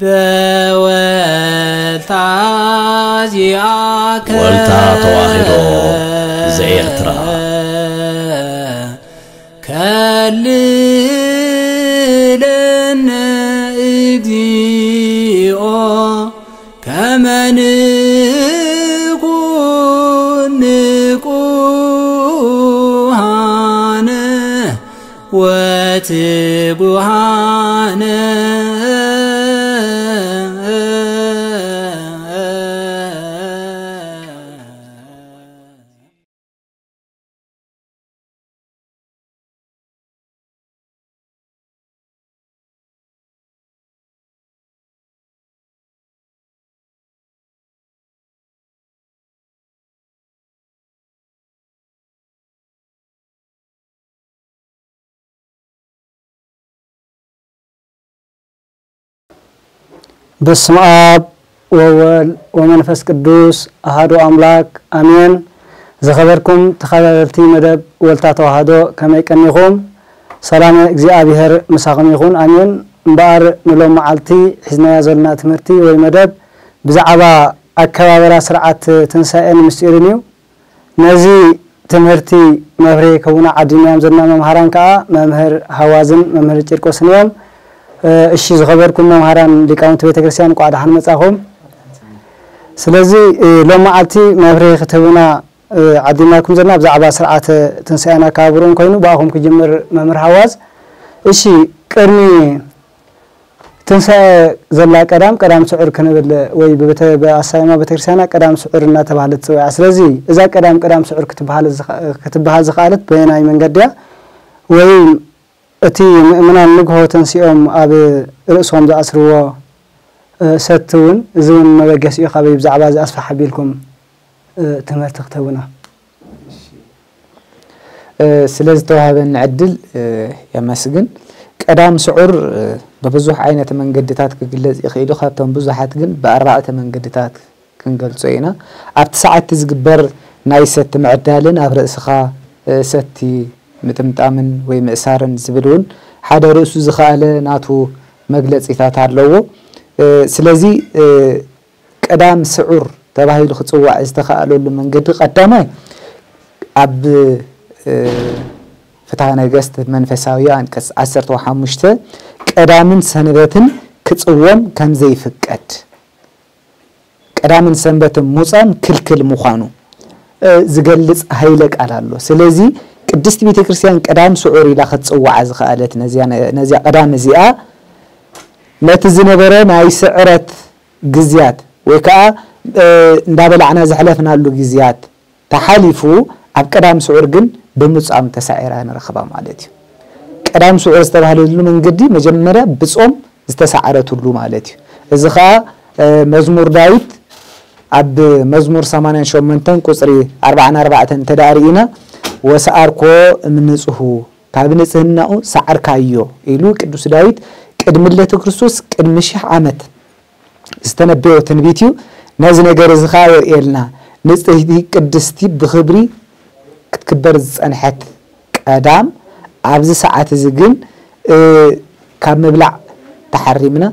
በወልታ ዚኣከ ወልታ ተዋሕዶ ዘኤርትራ። ከልለነ እግዚኦ ከመ ንኩን ንቁሃነ ወትጉሃነ። በስመ ኣብ ወወልድ ወመንፈስ ቅዱስ ኣሃዱ ኣምላክ ኣሜን። ዝኸበርኩም ተኸታተልቲ መደብ ወልታ ተዋህዶ ከመይ ቀኒኹም? ሰላም እግዚኣብሔር ምሳኹም ይኹን ኣሜን። እምበኣር ንሎም መዓልቲ ሒዝናዮ ዘለና ትምህርቲ ወይ መደብ ብዛዕባ ኣከባበራ ስርዓት ትንሳኤን ምስጢርን እዩ። ነዚ ትምህርቲ መብርሂ ክህቡና ዓዲምናዮም ዘለና መምሃራን ከዓ መምህር ሃዋዝን መምህር ጭርቆስን እዮም። እሺ ዝኸበርኩም መምሃራን ሊቃውንቲ ቤተክርስትያን እንኳዕ ደሓን መጻኹም። ስለዚ ሎም መዓልቲ መብርሂ ክትህቡና ዓዲምናኩም ዘለና ብዛዕባ ስርዓተ ትንሳኤን ኣከባብርኡን ኮይኑ ብኣኹም ክጅምር መምህር ሃዋዝ። እሺ ቅድሚ ትንሳኤ ዘላ ቀዳም ቀዳም ስዑር ክንብል ወይ ብኣሳይማ ቤተክርስትያና ቀዳም ስዑር እናተባህለት ትፅውዓ። ስለዚ እዛ ቀዳም ቀዳም ስዑር ክትበሃል ክትበሃል ዝኸኣለት በየናይ መንገዲ እያ? ወይ እቲ ምእመናን ንግሆ ተንሲኦም ኣብ ርእሶም ዝኣስርዎ ሰቲ እውን እዚ እውን መበገሲኡ ካበይ ብዛዕባ እዚ ኣስፍሕ ኣቢልኩም ትምህርቲ ክትህቡና? ስለ ዝተዋህበኒ ዕድል የመስግን። ቀዳም ስዑር ብብዙሕ ዓይነት መንገድታት ክግለጽ ይኽእል እዩ። ካብቶም ብዙሓት ግን ብኣርባዕተ መንገድታት ክንገልጾ ኢና። ኣብቲ ሰዓቲ ዝግበር ናይ ሰቲ ምዕዳልን ኣብ ርእስኻ ሰቲ ምጥምጣምን ወይ ምእሳርን ዝብል እውን ሓደ ርእሱ ዝኸኣለ ናቱ መግለጺታት ኣለዎ። ስለዚ ቀዳም ስዑር ተባሂሉ ክጽዋዕ ዝተኻእለሉ መንገዲ ቀዳማይ ኣብ ፍትሐ ነገስት መንፈሳዊ ኣንቀጽ ዓሰርተ ሓሙሽተ ቀዳምን ሰንበትን ክጽወም ከም ዘይፍቀድ፣ ቀዳምን ሰንበትን ሙጻም ክልክል ምዃኑ ዝገልጽ ኃይለ ቃል ኣሎ። ስለዚ ቅድስቲ ቤተክርስትያን ቀዳም ስዑር ኢላ ክትጽዋዓ ዝኸኣለት ነዚያ ቀዳም እዚኣ ነቲ ዝነበረ ናይ ስዕረት ግዝያት ወይ ከዓ እንዳበላዕና ዘሕለፍናሉ ግዝያት ተሓሊፉ ኣብ ቀዳም ስዑር ግን ብምጻም ተሳዒራ ንረኽባ ማለት እዩ። ቀዳም ስዑር ዝተባህለሉ መንገዲ መጀመርያ ብጾም ዝተሳዕረትሉ ማለት እዩ። እዚ ከዓ መዝሙር ዳዊት ኣብ መዝሙር ሰማንያን ሸሞንተን ቁፅሪ ኣርባዓን ኣርባዕተን እንተ ደኣ ርኢና ወሰኣርኮ እምንጽሁ ካብ ንጽህናኡ ሰዓርካዮ ኢሉ ቅዱስ ዳዊት ቅድሚ ልደተ ክርስቶስ ቅድሚ ሽሕ ዓመት ዝተነበዮ ትንቢት እዩ። ነዚ ነገር እዚ ኸዓ የርእየልና። ንጽህቲ ቅድስቲ ብኽብሪ ክትክበር ዝጸንሐት ቀዳም ኣብዚ ሰዓት እዚ ግን ካብ ምብላዕ ተሓሪምና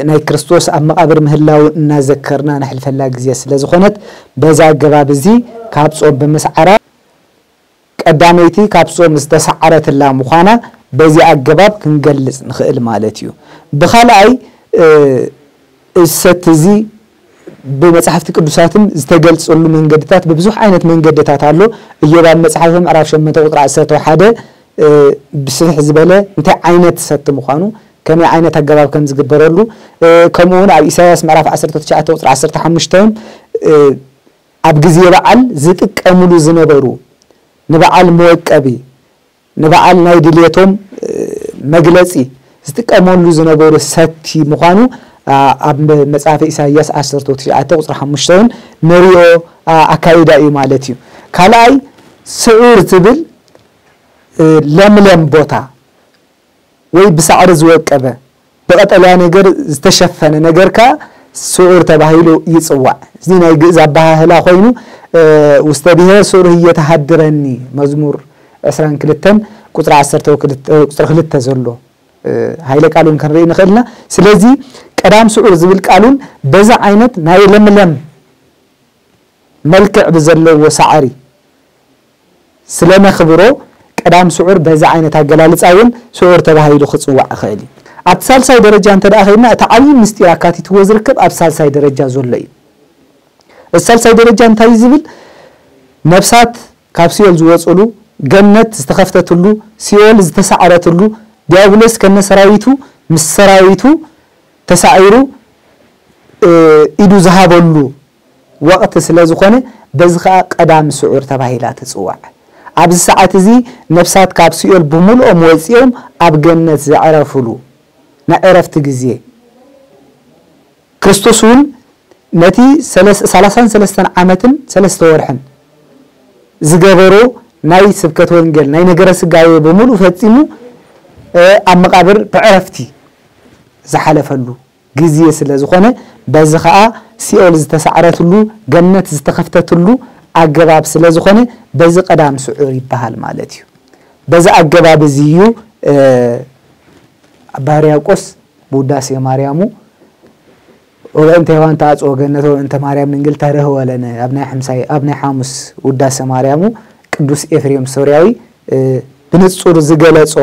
ናይ ክርስቶስ ኣብ መቓብር ምህላው እናዘከርና ነሕልፈላ ግዜ ስለ ዝኾነት በዚ ኣገባብ እዚ ካብ ጾም ብምስዓራ ቀዳመይቲ ካብ ጾም ዝተሰዓረትላ ምዃና በዚ ኣገባብ ክንገልጽ ንኽእል ማለት እዩ። ብኻልኣይ እዚ ሰቲ እዚ ብመጻሕፍቲ ቅዱሳትም ዝተገልጸሉ መንገድታት ብብዙሕ ዓይነት መንገድታት ኣሎ። እዮብ ኣብ መጽሓፉ ምዕራፍ ሸሞንተ ቁጽሪ ዓሰርተ ሓደ ብስፍሕ ዝበለ እንታይ ዓይነት ሰቲ ምዃኑ ከመይ ዓይነት ኣገባብ ከም ዝግበረሉ ከምኡ እውን ኣብ ኢሳያስ ምዕራፍ ዓሰርተ ትሽዓተ ቁጽሪ ዓሰርተ ሓሙሽተ እውን ኣብ ግዜ በዓል ዝጥቀምሉ ዝነበሩ ንበዓል መወቀቢ ንበዓል ናይ ድልየቶም መግለጺ ዝጥቀመሉ ዝነበሩ ሰቲ ምዃኑ ኣብ መጽሓፈ ኢሳይያስ ዓሰርተ ትሽዓተ ቁጽሪ ሓሙሽተ እውን ንሪኦ ኣካይዳ እዩ ማለት እዩ። ካልኣይ ስዑር ትብል ለምለም ቦታ ወይ ብሳዕሪ ዝወቀበ ብቐጠልያ ነገር ዝተሸፈነ ነገር ከኣ ስዑር ተባሂሉ ይጽዋዕ። እዚ ናይ ግእዝ ኣበሃህላ ኮይኑ ውስተ ብሔር ስዑር ህየ ተሃድረኒ መዝሙር ዕስራን ክልተን ቁጽሪ ዓሰርተ ቁጽሪ ክልተ ዘሎ ኃይለ ቃል እውን ክንርኢ ንኽእል ኢና። ስለዚ ቀዳም ስዑር ዝብል ቃል እውን በዚ ዓይነት ናይ ለምለም መልክዕ ብዘለዎ ሳዕሪ ስለ ነኽብሮ፣ ቀዳም ስዑር በዚ ዓይነት ኣገላልጻ እውን ስዑር ተባሂሉ ክጽዋዕ ይኽእል እዩ። ኣብቲ ሳልሳይ ደረጃ እንተ ደኣ ኸይድና፣ እቲ ዓብዪ ምስጢር ኣካቲትዎ ዝርከብ ኣብ ሳልሳይ ደረጃ ዘሎ እዩ። እቲ ሳልሳይ ደረጃ እንታይ እዩ ዝብል? ነፍሳት ካብ ሲኦል ዝወፅሉ፣ ገነት ዝተኸፍተትሉ፣ ሲኦል ዝተሳዕረትሉ፣ ዲያብሎስ ከነ ሰራዊቱ ምስ ሰራዊቱ ተሳዒሩ፣ እ፣ ኢዱ ዝሃበሉ ወቕቲ ስለ ዝኾነ፣ በዚ ኸኣ ቀዳም ስዑር ተባሂላ ትጽዋዕ። ኣብዚ ሰዓት እዚ ነፍሳት ካብ ሲኦል ብምልኦም ወጺኦም ኣብ ገነት ዘዕረፍሉ ናይ ዕረፍቲ ግዜ። ክርስቶስ እውን ነቲ ሰለስ-፣ ሰላሳን ሰለስተን ዓመትን ሰለስተ ወርሕን ዝገበሮ ናይ ስብከት ወንጌል፣ ናይ ነገረ ስጋዌ ብምሉእ ፈጺሙ፣ እ፣ ኣብ መቓብር ብዕረፍቲ ዝሓለፈሉ ግዜ ስለ ዝኾነ፣ በዚ ኸኣ ሲኦል ዝተሳዕረትሉ፣ ገነት ዝተኸፍተትሉ ኣገባብ ስለ ዝኾነ፣ በዚ ቀዳም ስዑር ይበሃል ማለት እዩ። በዚ ኣገባብ እዚ እዩ፣ እ፣ ኣባ ሕርያቆስ ብውዳሴ ማርያሙ፣ "ወበእንተ ሔዋን ተአጽኦ ገነት ወበእንተ ማርያም ድንግል ተርህወ ለነ" ኣብ ናይ ሓምሳይ፣ ኣብ ናይ ሓሙስ ውዳሴ ማርያሙ ቅዱስ ኤፍሬም ሶርያዊ፣ እ፣ ብንጹር ዝገለጾ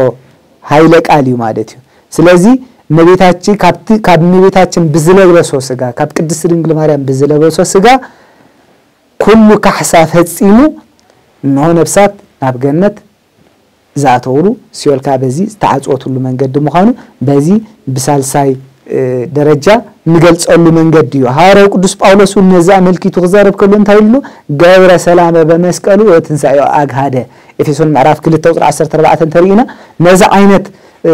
ኃይለ ቃል እዩ ማለት እዩ። ስለዚ እመቤታችን ካብቲ፣ ካብ እመቤታችን ብዝለበሶ ስጋ፣ ካብ ቅድስት ድንግል ማርያም ብዝለበሶ ስጋ ኩሉ ካሕሳ ፈጺሙ፣ እንሆ ነፍሳት ናብ ገነት ዝኣተውሉ፣ ሲኦል ከኣ በዚ ዝተዓጽወትሉ መንገዲ ምዃኑ በዚ ብሳልሳይ፣ እ፣ ደረጃ እንገልጸሉ መንገዲ እዩ። ሃዋርያው ቅዱስ ጳውሎስ እውን ነዚ ኣመልኪቱ ክዛረብ ከሎ እንታይ ኢሉ? "ገብረ ሰላመ በመስቀሉ ወትንሳኤሁ ኣግሃደ"። ኤፌሶን ምዕራፍ ክልተ ቁጽሪ ዓሰርተ ኣርባዕተ እንተሪእና፣ ነዚ ዓይነት፣ እ፣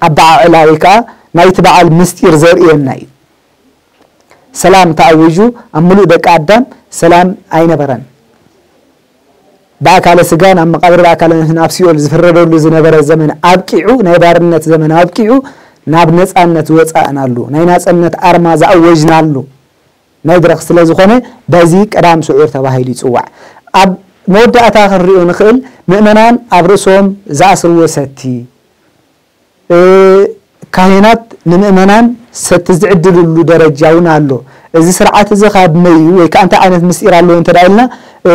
ኣበዓዕላ ወይ ከኣ ናይቲ በዓል ምስጢር ዘርእየና እዩ። ሰላም ተኣዊጁ፣ ኣብ ምሉእ ደቂ ኣዳም ሰላም ኣይነበረን። ብኣካለ ስጋን ኣብ መቓብር ብኣካለ ነፍስን ኣብ ሲኦል ዝፍረደሉ ዝነበረ ዘመን ኣብቂዑ፣ ናይ ባርነት ዘመን ኣብቂዑ፣ ናብ ነጻነት ዝወጻእናሉ፣ ናይ ናጽነት ኣርማ ዝኣወጅናሉ መድረኽ ስለ ዝኾነ፣ በዚ ቀዳም ስዑር ተባሂሉ ይጽዋዕ። ኣብ መወዳእታ ክንሪኦ ንኽእል፣ ምእመናን ኣብ ርእሶም ዝኣስርዎ ሰቲ፣ እ፣ ካህናት ንምእመናን ሰቲ ዝዕድልሉ ደረጃ እውን ኣሎ። እዚ ስርዓት እዚ ካብ መይ እዩ ወይ ከኣ እንታይ ዓይነት ምስጢር ኣለዎ እንተ ደኣ ኢልና፣ እ፣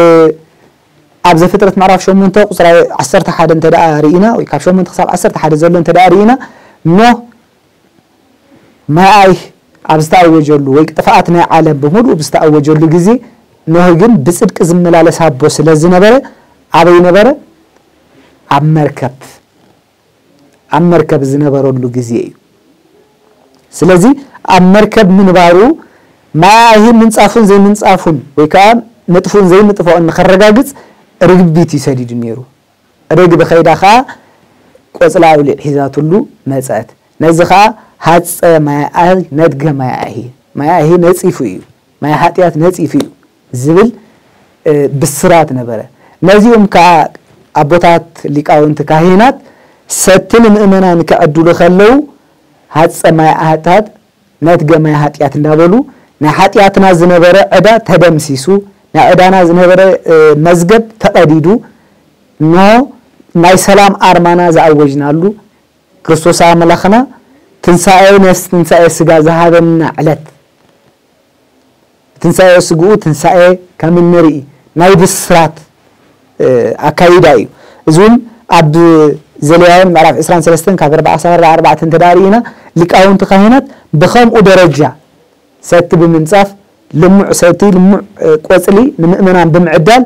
ኣብ ዘፍጥረት ምዕራፍ ሸሞንተ ቁጽሪ ዓሰርተ ሓደ እንተ ደኣ ርኢና፣ ወይ ካብ ሸሞንተ ክሳብ ዓሰርተ ሓደ ዘሎ እንተ ደኣ ርኢና፣ ኖህ ማይ ኣይሂ ኣብ ዝተኣወጀሉ ወይ ጥፍኣት ናይ ዓለም ብምሉእ ብዝተኣወጀሉ ግዜ፣ ኖህ ግን ብጽድቂ ዝመላለስ ኣቦ ስለ ዝነበረ፣ ኣበይ ነበረ? ኣብ መርከብ። ኣብ መርከብ ዝነበረሉ ግዜ እዩ። ስለዚ ኣብ መርከብ ምንባሩ ማይ ኣይሂ ምንጻፉን ዘይምንጻፉን ወይ ከኣ ምጥፉን ዘይምጥፋኡን ንኸረጋግጽ ርግቢት እዩ ሰዲዱ ነይሩ። ርግቢ ኸይዳ ኸኣ ቆጽሊ ኣውሊዕ ሒዛትሉ መጸት። ነዚ ኸኣ ሃጸ ማይ ኣይሂ ነድገ ማይ ኣይሂ፣ ማይ ኣይሂ ነጺፉ እዩ፣ ማይ ሓጢኣት ነጺፉ እዩ ዝብል፣ እ፣ ብስራት ነበረ። ነዚኦም ከኣ ኣቦታት ሊቃውንቲ ካህናት ሰቲ ንምእመናን ክዕድሉ ከለዉ፣ ሃጸ ማይ ኣሕታት ነትገ ማይ ሓጢኣት እንዳበሉ፣ ናይ ሓጢኣትና ዝነበረ ዕዳ ተደምሲሱ፣ ናይ ዕዳና ዝነበረ፣ እ፣ መዝገብ ተቐዲዱ፣ እንሆ ናይ ሰላም ኣርማና ዝኣወጅናሉ፣ ክርስቶስ ኣምላኽና ትንሳኤ ነፍሲ ትንሳኤ ስጋ ዝሃበና ዕለት፣ ትንሳኤ ስግኡ ትንሳኤ ከም እንርኢ ናይ ብስራት፣ እ፣ ኣካይዳ እዩ። እዚ እውን ኣብ ዘሌዋውያን ምዕራፍ ዕስራን ሰለስተን ካብ ኣርባዓ ክሳብ ኣርባዓ ኣርባዕተ እንተ ደኣ ርኢና፣ ሊቃውንቲ ካህናት ብኸምኡ ደረጃ ሰቲ ብምንጻፍ፣ ልሙዕ ሰቲ፣ ልሙዕ፣ እ፣ ቆጽሊ ንምእመናን ብምዕዳል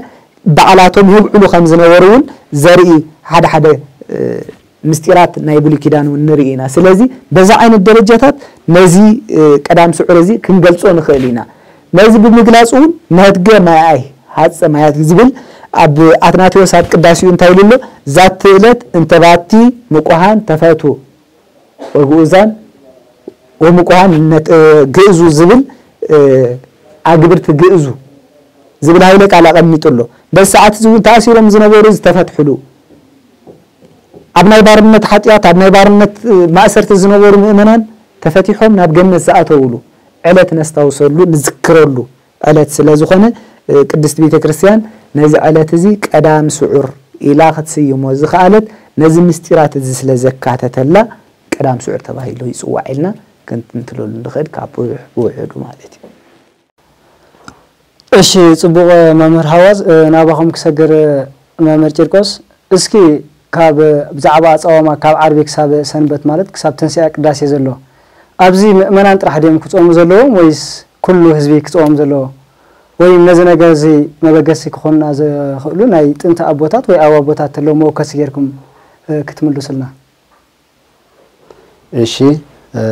ባዕላቶም የብዕሉ ከም ዝነበሩ እውን ዘርኢ ሓደ ሓደ፣ እ፣ ምስጢራት ናይ ብሉይ ኪዳን እውን ንርኢ ኢና። ስለዚ በዛ ዓይነት ደረጃታት ነዚ፣ እ፣ ቀዳም ስዑር እዚ ክንገልጾ ንኽእል ኢና። ነዚ ብምግላጽ እውን ነትገ ማያይ ሃጸ ማያት ዝብል ኣብ ኣትናቴዎስ ኣብ ቅዳሴኡ እንታይ ኢሉ ኣሎ? "ዛቲ ዕለት እንተ ባቲ ምቁሃን ተፈቱ ወግኡዛን ወምቁሃን ነት-፣ እ፣ ግእዙ" ዝብል፣ እ፣ ኣግብርቲ ግእዙ ዝብል ሃይለ ቃል ኣቐሚጡ ኣሎ። በዚ ሰዓት እዚ እውን ተኣሲሮም ዝነበሩ ዝተፈትሕሉ፣ ኣብ ናይ ባርነት ሓጢኣት፣ ኣብ ናይ ባርነት፣ እ፣ ማእሰርቲ ዝነበሩ ምእመናን ተፈቲሖም ናብ ገነት ዝኣተውሉ ዕለት ነስታውሰሉ፣ ንዝክረሉ ዕለት ስለ ዝኾነ፣ እ፣ ቅድስት ቤተ ክርስቲያን ነዚ ዕለት እዚ ቀዳም ስዑር ኢላ ክትስይሞ ዝኸኣለት ነዚ ምስጢራት እዚ ስለ ዘካተተላ ቀዳም ስዑር ተባሂሉ ይጽዋዕ ኢልና ክንትንትለሉ ንኽእል ካብ ብውሕ- ብውሕዱ ማለት እዩ። እሺ፣ ጽቡቕ መምህር ሃዋዝ፣ እ፣ ናባኹም ክሰግር፣ መምህር ቂርቆስ፣ እስኪ ካብ ብዛዕባ ኣጻዋማ ካብ ዓርቢ ክሳብ ሰንበት ማለት ክሳብ ተንስኣ ቅዳሴ ዘሎ ኣብዚ ምእመናን ጥራሕ ድዮም ክጾሙ ዘለዎም ወይስ ኩሉ ህዝቢ ክጾም ዘለዎ? ወይ ነዚ ነገር እዚ መበገሲ ክኾኑና ዝኽእሉ ናይ ጥንቲ ኣቦታት ወይ ኣብ ኣቦታት ተለዉ መወከሲ ጌርኩም፣ እ፣ ክትምልሱልና? እሺ፣ እ፣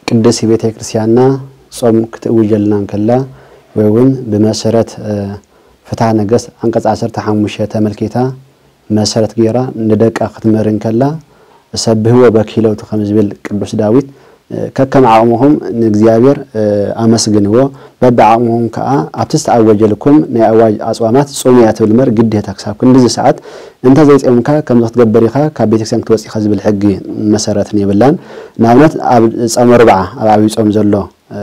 ቅድስቲ ቤተ ክርስቲያንና ጾም ክትእውጀልና እንከላ ወይ እውን ብመሰረት፣ እ፣ ፍትሐ ነገስት ዓንቀጽ ዓሰርተ ሓሙሽተ ተመልኪታ መሰረት ገይራ ንደቃ ክትምህር እንከላ፣ "ሰብህዎ በኪለውቲ" ከም ዝብል ቅዱስ ዳዊት፣ እ፣ ከከም ዓቕምኹም ንእግዚኣብሔር፣ እ፣ ኣመስግንዎ፣ በብዓቕምኹም ከኣ ኣብቲ ዝተኣወጀልኩም ናይ ኣዋጅ ኣጽዋማት ጽሙያ ትብል እምበር ግዴታ ክሳብ ክንድዚ ሰዓት እንተ ዘይጸምካ ከምዚ ክትገብር ኢኻ፣ ካብ ቤተክርስትያን ክትወጽእ ኢኻ ዝብል ሕጊ መሰረትን የብላን። ንኣብነት ኣብ ጸመ ርብዓ ኣብ ዓብይ ጾም ዘሎ፣ እ፣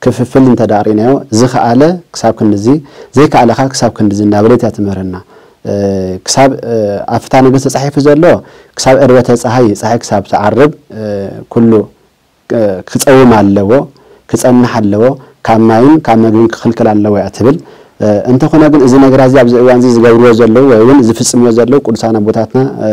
ክፍፍል እንተ ደኣ ርኢናዮ፣ ዝኸኣለ ክሳብ ክንድዚ፣ ዘይከኣለ ከኣ ክሳብ ክንድዚ እናበለት እያ ትምህረና። እ፣ ክሳብ፣ እ፣ ኣብ ፍትሐ ነገስት ተጻሒፉ ዘሎ ክሳብ ዕርበተ ጸሓይ፣ ጸሓይ ክሳብ ትዓርብ፣ እ፣ ኩሉ፣ እ፣ ክጸውም ኣለዎ፣ ክጸንሕ ኣለዎ፣ ካብ ማይን ካብ መግብን ክኽልከል ኣለዎ እያ ትብል። እ፣ እንተኾነ ግን እዚ ነገራት እዚ ኣብዚ እዋን እዚ ዝገብርዎ ዘለዉ ወይ እውን ዝፍጽምዎ ዘለዉ ቅዱሳን ኣቦታትና፣ እ፣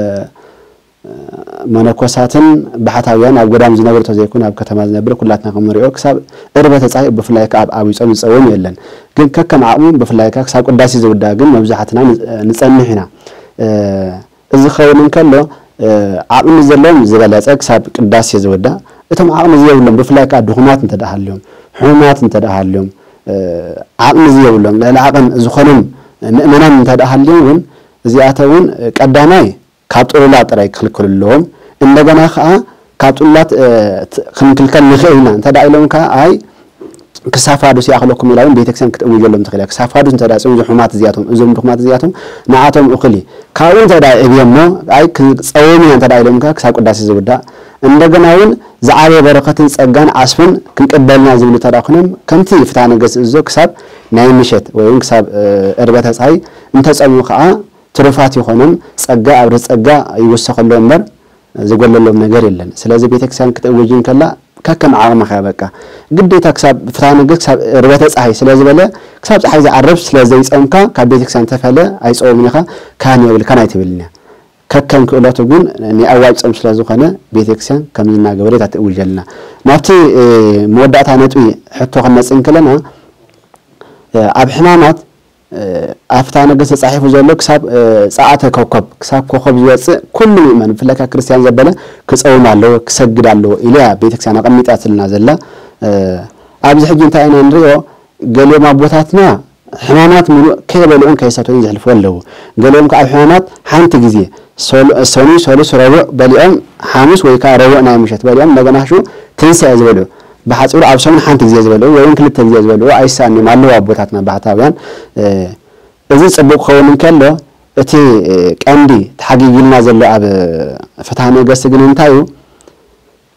መነኮሳትን ባሕታውያን ኣብ ገዳም ዝነብሩ ተዘይኮነ ኣብ ከተማ ዝነብር ኩላትና ከም ንሪኦ ክሳብ ዕርበተ ጸሓይ ብፍላይ ከኣ ኣብ ዓብይ ጾም ዝጸውም የለን። ግን ከከም ዓቕሙ ብፍላይ ከኣ ክሳብ ቅዳሴ ዝውዳእ ግን መብዛሕትና ን-፣ ንጸንሕ ኢና። እ፣ እዚ ክኸውን እንከሎ፣ እ፣ ዓቕሚ ዘለዎም ዝበለጸ ክሳብ ቅዳሴ ዝውዳእ፣ እቶም ዓቕሚ ዘየብሎም ብፍላይ ከኣ ድኹማት እንተ ደኣ ሃልዮም፣ ሕሙማት እንተ ደኣ ሃልዮም፣ እ፣ ዓቕሚ ዘየብሎም ልዕሊ ዓቕም ዝኾኖም ምእመናን እንተ ደኣ ሃልዮም እውን እዚኣቶም እውን ቀዳማይ ካብ ጥሉላት ጥራይ ክኽልከሉ ኣለዎም። እንደገና ከኣ ካብ ጥሉላት፣ እ፣ ት-፣ ክንክልከል ንኽእል ኢና እንተ ደኣ ኢሎም ከኣ ኣይ ክሳብ ፋዱስ ይኣኽለኩም ኢላ እውን ቤተክርስትያን ክትእውጀሎም ትኽእል እያ። ክሳብ ፋዱስ እንተ ደኣ ጽዮን እዞም ሕሙማት እዚኣቶም፣ እዞም ድኹማት እዚኣቶም ንዓቶም እኹል እዩ። ካብኡ እንተ ደኣ እብየሞ ኣይ ክጸውም ኢና እንተ ደኣ ኢሎም ከኣ ክሳብ ቅዳሴ ዝውዳእ እንደገና እውን ዝዓበየ በረኸትን ጸጋን ዓስብን ክንቅበልና ዝብሉ እንተ ደኣ ኮይኖም ከምቲ ፍትሐ ነገስት ዝእዝዞ ክሳብ ናይ ምሸት ወይ እውን ክሳብ፣ እ፣ ዕርበተ ጸሓይ እንተጸሙ ከኣ ትሩፋት ይኾኖም፣ ጸጋ ኣብ ርእሲ ጸጋ ይውሰኸሎም እምበር ዝጎለሎም ነገር የለን። ስለዚ ቤተክርስትያን ክትእውጅ እንከላ ከከም ዓቕምኻ እያ በቃ። ግዴታ ክሳብ ፍትሐ ነገስት ክሳብ ዕርበተ ጸሓይ ስለ ዝበለ ክሳብ ጸሓይ ዝዓርብ ስለ ዘይጸምካ ካብ ቤተክርስትያን ተፈለ ኣይጸውምን ኢኻ፣ ካህን የብልካን ኣይትብልን እያ። ከከም ክእለቱ ግን ናይ ኣዋጅ ጾም ስለ ዝኾነ ቤተክርስትያን ከምዚ እናገበረት እያ ትእውጀልና። ናብቲ፣ እ፣ መወዳእታ ነጥቢ ሕቶ ክንመጽእ እንከለና፣ እ፣ ኣብ ሕማማት፣ እ፣ ኣብ ፍትሐ ነገስት ተጻሒፉ ዘሎ ክሳብ፣ እ፣ ጸዓተ ኮከብ፣ ክሳብ ኮኸብ ዝወጽእ ኩሉ ምእመን፣ ብፍላይ ከኣ ክርስትያን ዘበለ ክጸውም ኣለዎ፣ ክሰግድ ኣለዎ ኢላ እያ ቤተክርስትያን ኣቐሚጣትልና ዘላ። እ፣ ኣብዚ ሕጂ እንታይ ኢና ንሪኦ? ገሊኦም ኣቦታትና ሕማማት ምሉእ ከይበልዑን ከይሰተዩን ዘሕልፍዎ ኣለዉ። ገሊኦም ከኣ ኣብ ሕማማት ሓንቲ ግዜ፣ ሶል-፣ ሰኑይ፣ ሰሉስ፣ ረቡዕ በሊዖም፣ ሓሙስ ወይ ከኣ ረቡዕ ናይ ምሸት በሊዖም፣ እንደገና ሽዑ ትንሳኤ ዝበልዑ። ብሓጺሩ ኣብ ሰሙን ሓንቲ ግዜ ዝበልዑ ወይ እውን ክልተ ግዜ ዝበልዑ ኣይሳኣን እዮም ኣለዉ ኣቦታትና ባሕታውያን። እ፣ እዚ ጽቡቕ ክኸውን እንከሎ፣ እቲ፣ እ፣ ቀንዲ ተሓጊጊልና ዘሎ ኣብ ፍትሐ ነገስት ግን እንታይ እዩ?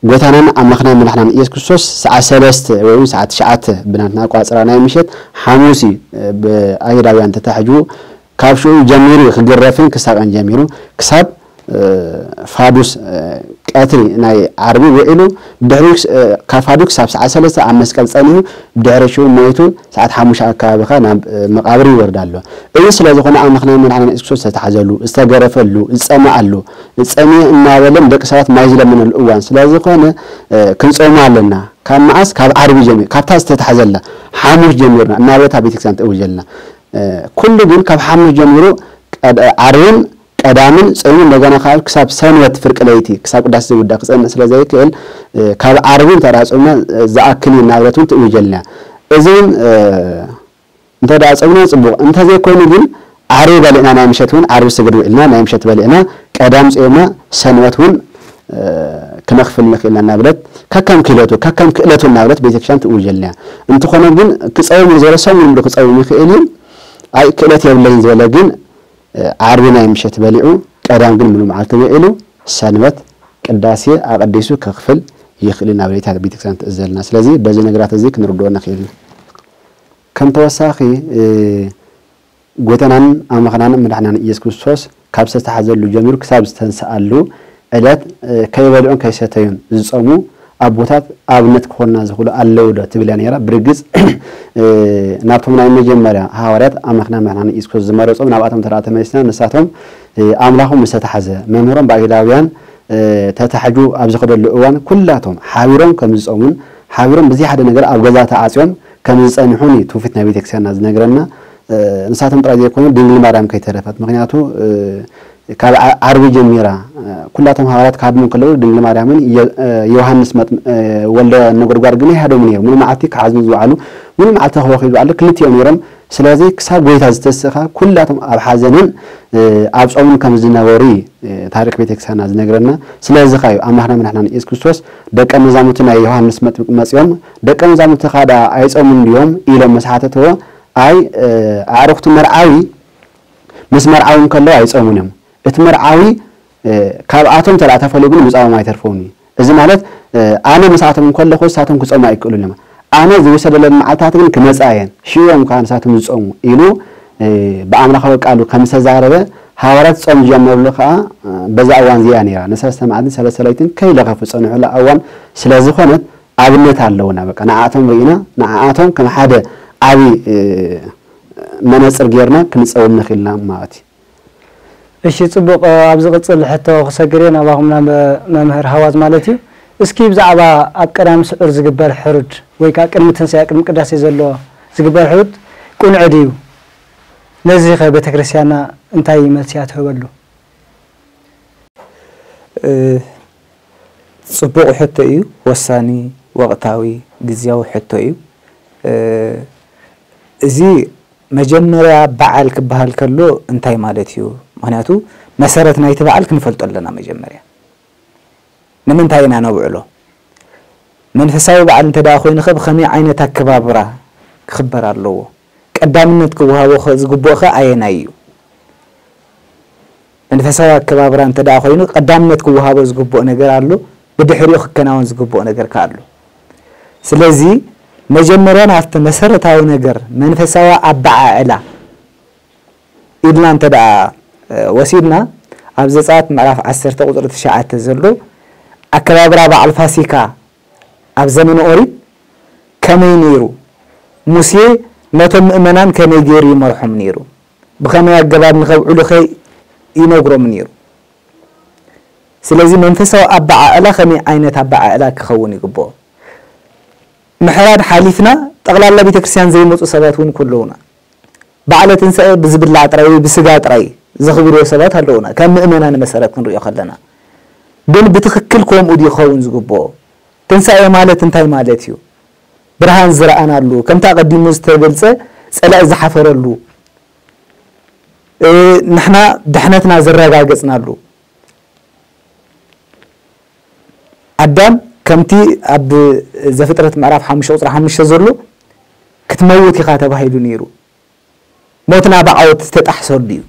ጎይታናን ኣምላኽናን መድሓናን ኢየሱስ ክርስቶስ ሰዓት ሰለስተ ወይ እውን ሰዓት ትሽዓተ ብናትና ኣቋጽራ ናይ ምሸት ሓሙስ እዩ፣ እ፣ ብኣይሁዳውያን ተታሒዙ ካብ ሽዑ ጀሚሩ እዩ ክግረፍን ክሳቐን ጀሚሩ ክሳብ፣ እ፣ ፋዱስ፣ እ፣ ቀትሪ ናይ ዓርቢ ውዒሉ ብድሕሪኡ ክስ-፣ እ፣ ካብ ፋዱስ ክሳብ ሰዓት ሰለስተ ኣብ መስቀል ጸኒሑ ብድሕሪ ሽዑ ሞይቱ ሰዓት ሓሙሽተ ኣከባቢ ከኣ ናብ፣ እ፣ መቓብር ይወርድ ኣሎ። እዚ ስለ ዝኾነ ኣምላኽናን መድሓኒና የሱስ ክርስቶስ ዝተታሕዘሉ፣ ዝተገረፈሉ፣ ዝጸመኣሉ፣ ዝጸምየ እናበለ ንደቂ ሰባት ማይ ዝለመነሉ እዋን ስለ ዝኾነ፣ እ፣ ክንጾሞ ኣለና። ካብ መዓስ? ካብ ዓርቢ ጀሚሩ፣ ካብታ ዝተታሕዘላ ሓሙስ ጀሚርና እናበለት ኣብ ቤተክርስትያን ትእውጀልና። እ፣ ኩሉ ግን ካብ ሓሙስ ጀሚሩ ቀድ-፣ ዓርብን ቀዳምን ጾይሙ እንደገና ካብ ክሳብ ሰንበት ፍርቂ ለይቲ ክሳብ ቅዳሴ ዝውዳእ ክጸንዕ ስለ ዘይክእል፣ እ፣ ካብ ዓርቢ እንተ ደኣ ጾምና፣ እ፣ ዝኣክል እዩ እናበለት እውን ትእውጀልና። እዚ እውን፣ እ፣ እንተ ደኣ ጾምና ጽቡቕ፣ እንተ ዘይኮይኑ ግን ዓርቢ በሊዕና ናይ ምሸት እውን ዓርቢ ስግድ ውዒልና ናይ ምሸት በሊዕና ቀዳም ጾምና ሰንበት እውን፣ እ፣ ክነኽፍል ንኽእልና እናበለት ከከም ክእለቱ፣ ከከም ክእለቱ እናበለት ቤተክርስትያን ትእውጀልና እያ። እንተኾነ ግን ክጸውም እዩ ዝበለ ሰሙን ሙሉ ክጸውም ይኽእል እዩ። ኣይ ክእለት የብለይን ዝበለ ግን ዓርቢ ናይ ምሸት በሊዑ ቀዳም ግን ምሉእ መዓልቲ ውዒሉ ሰንበት ቅዳሴ ኣቐዲሱ ከኽፍል ይኽእል እዩ እናበለት እያ ቤተክርስትያን ትእዘዘልና። ስለዚ በዚ ነገራት እዚ ክንርድኦ ንኽእል ኢና። ከም ተወሳኺ፣ እ፣ ጎይታናን ኣምላኽናን መድሓኒናን ኢየሱስ ክርስቶስ ካብ ዝተታሕዘሉ ጀሚሩ ክሳብ ዝተንስኣሉ ዕለት፣ እ፣ ከይበልዑን ከይሰተዩን ዝጸሙ ኣቦታት ኣብነት ክኾንና ዝኽእሉ ኣለዉ ዶ ትብል እያ ነይራ። ብርግጽ ናብቶም ናይ መጀመርያ ሃዋርያት ኣምላኽና መድሓኒ ኢየሱስ ክርስቶስ ዝመረጾም ናብኣቶም ተደኣ ተመሊስና ንሳቶም ኣምላኾም ዝተታሕዘ መምህሮም ብኣይሁዳውያን ተታሒዙ ኣብ ዝኸደሉ እዋን ኩላቶም ሓቢሮም ከም ዝጾሙን ሓቢሮም ብዘይ ሓደ ነገር ኣብ ገዛ ተዓጽዮም ከም ዝጸንሑን እዩ ትውፊት ናይ ቤተክርስትያንና ዝነግረና። ንሳቶም ጥራይ ዘይኮኑ ድንግል ማርያም ከይተረፈት። ምኽንያቱ ካብ ዓርቢ ጀሚራ ኩላቶም ሃዋርያት ክሃድሙ ከለዉ ድንግል ማርያምን ዮሃንስ ወልደ ነጎድጓድ ግን ኣይሃደሙ ነይሩ። ሙሉ መዓልቲ ክሓዝኑ ዝውዓሉ፣ ሙሉ መዓልቲ ክበኽዩ ዝውዓሉ ክልቲኦም ነይሮም። ስለዚ ክሳብ ጎይታ ዝተስእኻ ኩላቶም ኣብ ሓዘንን ኣብ ጾምን ከም ዝነበሩ እዩ ታሪኽ ቤተክርስትያንና ዝነግረና። ስለዚ ኸኣ እዩ ኣምላኽና መድሓኒና ኢየሱስ ክርስቶስ ደቀ መዛሙርቲ ናይ ዮሃንስ መጥምቅ መጺኦም ደቀ መዛሙርትኻ ደኣ ኣይጾሙን ድዮም ኢሎም ምስ ሓተትዎ፣ ኣይ ኣዕሩኽቲ መርዓዊ ምስ መርዓዊ እንከለዉ ኣይጾሙን እዮም። እቲ መርዓዊ ካብኣቶም ተደኣ ተፈልዩ ግን ምጻኦም ኣይተርፎምን እዩ። እዚ ማለት ኣነ ምስኣቶም እንከለኹ ንሳቶም ክጾሙ ኣይክእሉን እዮም። ኣነ ዝውሰደለን መዓልታት ግን ክመጻ እየን፣ ሽዑ እዮም ከኣ ንሳቶም ዝጾሙ ኢሉ ብኣምላኻዊ ቃሉ ከም ዝተዛረበ ሃዋርያት ጾም ዝጀመሩሉ ከኣ በዛ እዋን እዚኣ ነይራ። ንሰለስተ መዓልትን ሰለስተ ለይትን ከይለኸፉ ዝጸንሑላ እዋን ስለ ዝኾነት ኣብነት ኣለውና። በቃ ንዓኣቶም ርኢና ንዓኣቶም ከም ሓደ ዓቢ መነጽር ጌርና ክንጸውም ንኽእልና ማለት እዩ። እሺ ጽቡቕ። ኣብ ዝቕጽል ሕቶ ክሰግር እየ ናባኹም ናብ መምህር ሃዋዝ ማለት እዩ። እስኪ ብዛዕባ ኣብ ቀዳም ስዑር ዝግበር ሕሩድ ወይ ከዓ ቅድሚ ትንሳኤ ቅድሚ ቅዳሴ ዘሎ ዝግበር ሕሩድ ቁኑዕ ድዩ? ነዚ ኸ ቤተክርስትያንና እንታይ መልሲ እያ ትህበሉ? ጽቡቕ ሕቶ እዩ። ወሳኒ፣ ወቕታዊ፣ ግዝያዊ ሕቶ እዩ። እዚ መጀመርያ በዓል ክበሃል ከሎ እንታይ ማለት እዩ? ምኽንያቱ መሰረት ናይቲ በዓል ክንፈልጦ ኣለና። መጀመርያ ንምንታይ ኢና ነብዕሎ? መንፈሳዊ በዓል እንተ ደኣ ኮይኑ ኸ ብኸመይ ዓይነት ኣከባብራ ክኽበር ኣለዎ? ቀዳምነት ክወሃቦ ዝግብኦ ኸ ኣየናይ እዩ? መንፈሳዊ ኣከባብራ እንተ ደኣ ኮይኑ ቀዳምነት ክወሃቦ ዝግብኦ ነገር ኣሎ፣ ብድሕሪኡ ክከናወን ዝግብኦ ነገር ከ ኣሎ። ስለዚ መጀመርያ ናብቲ መሰረታዊ ነገር መንፈሳዊ ኣበዓዕላ ኢልና እንተ ደኣ ወሲድና ኣብ ዘጸኣት ምዕራፍ ዓሰርተ ቁጽሪ ትሽዓተ ዘሎ ኣከባብራ በዓል ፋሲካ ኣብ ዘመነ ኦሪት ከመይ ነይሩ? ሙሴ ነቶም ምእመናን ከመይ ገይሩ ይመርሖም ነይሩ? ብኸመይ ኣገባብ ንኸብዕሉ ኸ ይነግሮም ነይሩ? ስለዚ መንፈሳዊ ኣበዓዕላ ከመይ ዓይነት ኣበዓዕላ ክኸውን ይግብኦ? ምሕራድ ሓሊፍና ጠቕላላ ቤተ ክርስቲያን ዘይመጹ ሰባት እውን ኩለውና በዓለ ትንሳኤ ብዝብላዕ ጥራይ ወይ ብስጋ ጥራይ ዘኽብርዎ ሰባት ኣለውና። ከም ምእመናን መሰረት ክንሪኦ ከለና ግን ብትኽክል ከምኡ ድዩ ክኸውን ዝግብኦ? ትንሳኤ ማለት እንታይ ማለት እዩ? ብርሃን ዝረኣናሉ፣ ከምቲ ኣቐዲሙ ዝተገልጸ ጸላኢ ዝሓፈረሉ፣ ንሕና ድሕነትና ዘረጋገጽናሉ። ኣዳም ከምቲ ኣብ ዘፍጥረት ምዕራፍ ሓሙሽተ ቁጽሪ ሓሙሽተ ዘሎ ክትመውት ኢኻ ተባሂሉ ነይሩ። ሞትና ብዓወት ዝተጣሕሰሉ እዩ።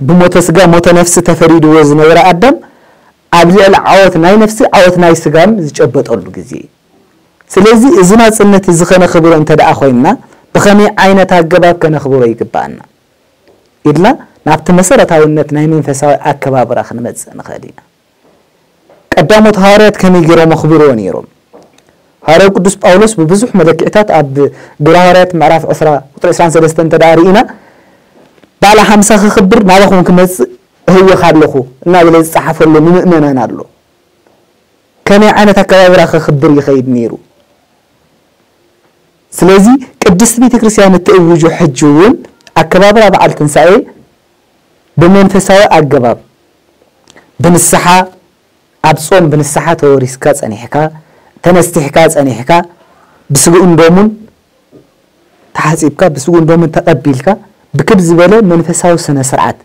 ብሞተ ስጋ ሞተ ነፍሲ ተፈሪድዎ ዝነበረ ኣዳም ኣብ ልዕሊ ዓወት ናይ ነፍሲ ዓወት ናይ ስጋን ዝጨበጠሉ ግዜ እዩ። ስለዚ እዚ ናጽነት እዚ ከነኽብሮ እንተ ደኣ ኮይንና ብኸመይ ዓይነት ኣገባብ ከነኽብሮ ይግብኣና ኢልና ናብቲ መሰረታውነት ናይ መንፈሳዊ ኣከባብራ ክንመጽእ ንኽእል ኢና። ቀዳሞት ሃዋርያት ከመይ ገይሮም ኣኽብርዎ ነይሮም? ሃዋርያው ቅዱስ ጳውሎስ ብብዙሕ መለክዕታት ኣብ ግብረ ሃዋርያት ምዕራፍ ዕስራ ቁጽሪ ዕስራን ሰለስተን እንተ ደኣ ርኢና ባዕላ ሓምሳ ክኽብር ናባኹም ክመጽእ እህወኽ ኣለኹ እናበለ ዝጸሓፈሉ ንምእመናን ኣሎ። ከመይ ዓይነት ኣከባብራ ከኽብር ይኸይድ ነይሩ? ስለዚ ቅድስቲ ቤተ ክርስቲያን እትእውጆ ሕጂ እውን ኣከባብራ በዓል ትንሳኤ ብመንፈሳዊ ኣገባብ ብንስሓ ኣብ ጾም ብንስሓ ተወሪስካ ጸኒሕካ ተነስቲሕካ ጸኒሕካ ብስግኡን ደሙን ተሓጺብካ ብስግኡን ደሙን ተቐቢልካ ብክብ ዝበለ መንፈሳዊ ስነ ስርዓት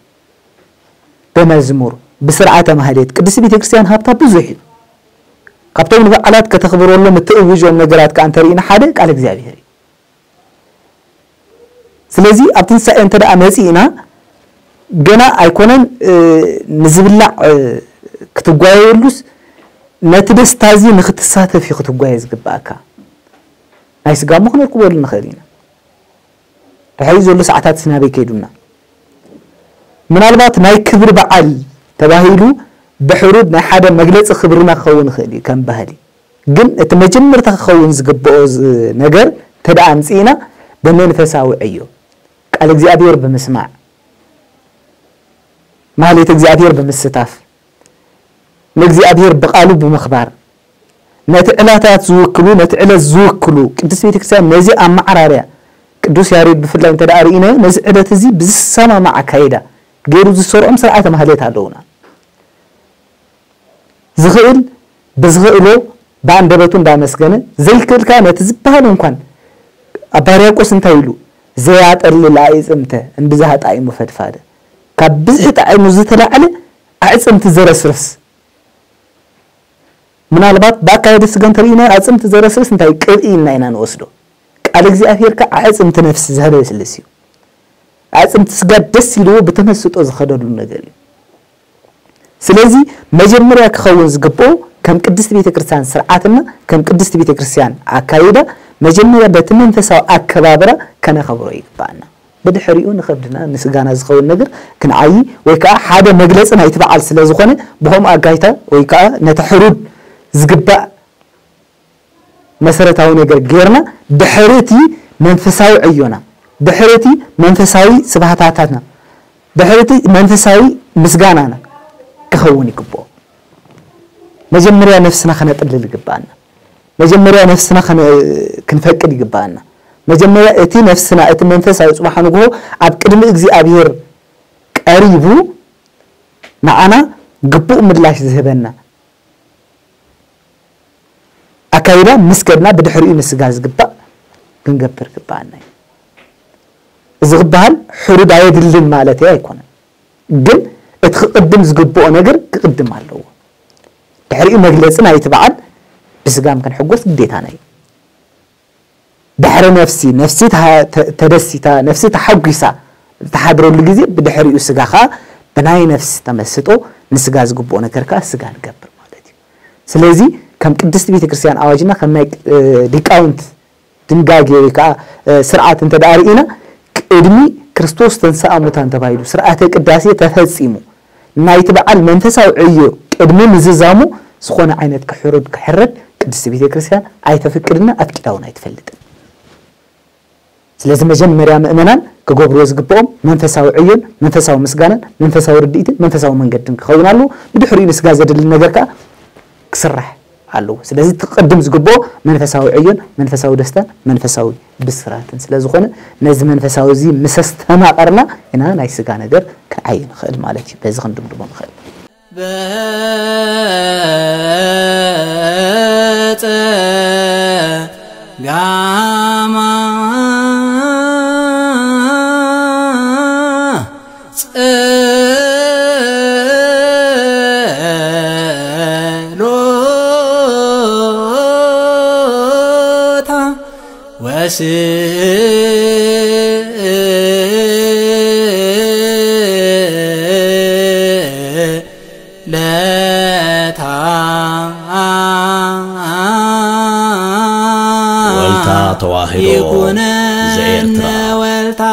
ብመዝሙር ብስርዓተ ማህሌት ቅድስቲ ቤተ ክርስቲያን ሃብታ ብዙሕ እዩ። ካብቶም ንበዓላት ከተኽብረሎም እትእውጆም ነገራት ከኣ እንተርኢና ሓደ ቃል እግዚኣብሔር እዩ። ስለዚ ኣብ ትንሳኤ እንተ ደኣ መጺእና ገና ኣይኮነን ንዝብላዕ ክትጓየየሉስ ነቲ ደስታ እዚ ንክትሳተፍ እዩ ክትጓየ ዝግብኣካ። ናይ ስጋ እሞ ክነርክበሉ ንኽእል ኢና። ድሕሪኡ ዘሎ ሰዓታት ናበይ ከይዱና? ምናልባት ናይ ክብሪ በዓል ተባሂሉ ብሕሩድ ናይ ሓደ መግለፂ ክብርና ክኸውን ይኽእል እዩ ከም ባህሊ። ግን እቲ መጀመርታ ክኸውን ዝግብኦ ዝ- ነገር እንተ ደኣ ኣምፅእና ብመንፈሳዊ ዕዮ ቃል እግዚኣብሔር ብምስማዕ፣ ማህሌት እግዚኣብሔር ብምስታፍ፣ ንእግዚኣብሔር ብቓሉ ብምኽባር፣ ነቲ ዕላታት ዝውክሉ፣ ነቲ ዕለት ዝውክሉ፣ ቅድስት ቤተክርስትያን ነዚ ኣመዓራርያ ቅዱስ ያሬድ ብፍላይ እንተ ደኣ ርኢናዮ፣ ነዚ ዕለት እዚ ብዝሰማማዕ ኣካይዳ ገይሩ ዝሰርዖም ስርዓተ ማህሌት ኣለዉና። ዝኽእል ብዝኽእሎ ብኣንደበቱ እንዳመስገነ፣ ዘይክእል ከኣ ነቲ ዝበሃል እንኳን ኣባ ሕርያቆስ እንታይ ኢሉ? "ዘያጠልል ኣዕፅምተ እምብዝሃ ጣዕሙ ፈድፋደ"፣ ካብ ብዝሒ ጣዕሙ ዝተላዕለ ኣዕፅምቲ ዘረስርስ። ምናልባት ብኣካየደ ስጋ እንተርኢና ኣዕፅምቲ ዘረስርስ እንታይ ቅብኢ ኢልና ኢና ንወስዶ። ቃል እግዚኣብሔር ከኣ ኣዕፅምቲ ነፍሲ ዘህለስልስ እዩ። ኣዕፅምቲ ስጋ ደስ ኢልዎ ብተመስጦ ዝኸደሉ ነገር እዩ። ስለዚ መጀመርያ ክኸውን ዝግብኦ ከም ቅድስቲ ቤተክርስትያን ስርዓትና፣ ከም ቅድስቲ ቤተክርስትያን ኣካይዳ፣ መጀመርያ በቲ መንፈሳዊ ኣከባብራ ከነኸብሮ ይግባኣና። ብድሕሪኡ ንኸብድና ንስጋና ዝኸውን ነገር ክንዓዪ ወይ ከዓ ሓደ መግለፂ ናይቲ በዓል ስለ ዝኾነ ብኸምኡ ኣጋይታ ወይ ከዓ ነቲ ሕሩድ ዝግባእ መሰረታዊ ነገር ጌርና ድሕሪ እቲ መንፈሳዊ ዕዮና፣ ድሕሪ እቲ መንፈሳዊ ስብሃታታትና፣ ድሕሪ እቲ መንፈሳዊ ምስጋናና ክኸውን ይግብኦ። መጀመርያ ነፍስና ከነጥልል ይግብኣና። መጀመርያ ነፍስና ከነ- ክንፈቅድ ይግብኣና። መጀመርያ እቲ ነፍስና፣ እቲ መንፈሳዊ ጽባሕ ንግሆ ኣብ ቅድሚ እግዚኣብሔር ቀሪቡ ንዓና ግቡእ ምላሽ ዝህበና ኣካይዳ ምስ ከድና ብድሕሪኡ ንስጋ ዝግባእ ክንገብር ግባኣና እዩ። እዚ ክበሃል ሕሩድ ኣየድልን ማለት ኣይኮነን። ግን እቲ ክቕድም ዝግብኦ ነገር ክቕድም ኣለዎ። ድሕሪኡ መግለጺ ናይቲ በዓል ብስጋም ክንሕጎስ ግዴታና እዩ። ድሕሪ ነፍሲ፣ ነፍሲ ተሃ- ተ- ተደሲታ፣ ነፍሲ ተሓጒሳ ዝተሓድረሉ ግዜ ብድሕሪኡ ስጋ ከኣ ብናይ ነፍሲ ተመስጦ ንስጋ ዝግብኦ ነገር ከኣ ስጋ ንገብር ማለት እዩ። ስለዚ ከም ቅድስቲ ቤተክርስትያን ኣዋጅና ከም ናይ እ፣ ሊቃውንት ድንጋጌ ወይ ከዓ እ፣ ስርዓት እንተ ደኣ ርኢና ቅድሚ ክርስቶስ ተንሥአ እሙታን ተባሂሉ ስርዓተ ቅዳሴ ተፈጺሙ ናይቲ በዓል መንፈሳዊ ዕዮ ቅድሚ ምዝዛሙ ዝኾነ ዓይነት ክሕሩድ ክሕረድ ቅድስቲ ቤተክርስትያን ኣይተፍቅድና ኣፍቂዳ እውን ኣይትፈልጥን። ስለዚ መጀመርያ ምእመናን ክገብርዎ ዝግብኦም መንፈሳዊ ዕዮን መንፈሳዊ ምስጋናን መንፈሳዊ ርድኢትን መንፈሳዊ መንገድን ክኸውን ኣለዎ። ብድሕሪኡ ንስጋ ዘድሊ ነገር ከዓ ክስራሕ ኣለዎ። ስለዚ እቲ ክቕድም ዝግብኦ መንፈሳዊ ዕዮን መንፈሳዊ ደስታን መንፈሳዊ ብስራትን ስለ ዝኾነ ነዚ መንፈሳዊ እዚ ምስ ኣስተማቐርና ኢና ናይ ስጋ ነገር ክንዓይ ንኽእል ማለት እዩ። በዚ ክንድምድሞ ንኽእል። በጸ ጋማ ጸሎታ ወስእለታ ወልታ ተዋሕዶ ይኩነነ ዘኤርትራ። ወልታ